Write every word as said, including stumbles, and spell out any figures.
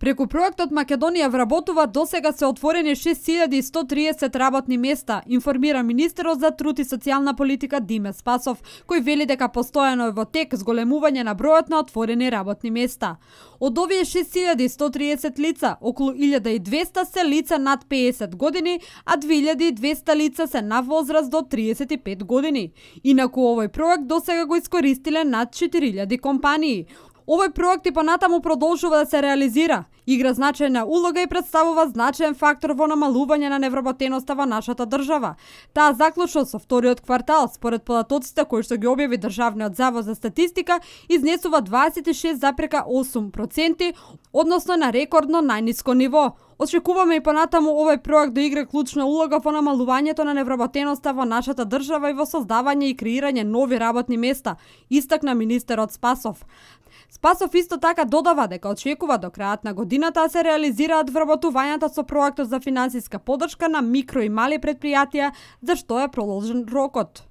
Преку проектот Македонија вработува досега се отворени шест илјади и сто триесет работни места, информира министерот за труд и социјална политика Диме Спасов, кој вели дека постојано е во тек зголемување на бројот на отворени работни места. Од овие шест илјади и сто триесет лица, околу илјада и двесте се лица над пеесет години, а две илјади и двесте лица се на возраст до триесет и пет години. Инаку овој проект досега го искористиле над четири илјади компании. Овој проект и понатаму продолжува да се реализира, игра значајна улога и представува значаен фактор во намалување на невработеноста во нашата држава. Таа заклучно со вториот квартал, според податоците кои што ги објави Државниот завод за статистика, изнесува дваесет и шест зарез осум проценти, односно на рекордно најниско ниво. Очекуваме и понатаму овој проект да игра клучна улога во намалувањето на невработеноста во нашата држава и во создавање и креирање нови работни места, истакна министерот Спасов. Спасов исто така додава дека очекува до крајот на годината да се реализираат вработувањата со проектот за финансиска поддршка на микро и мали претпријатија, за што е продолжен рокот.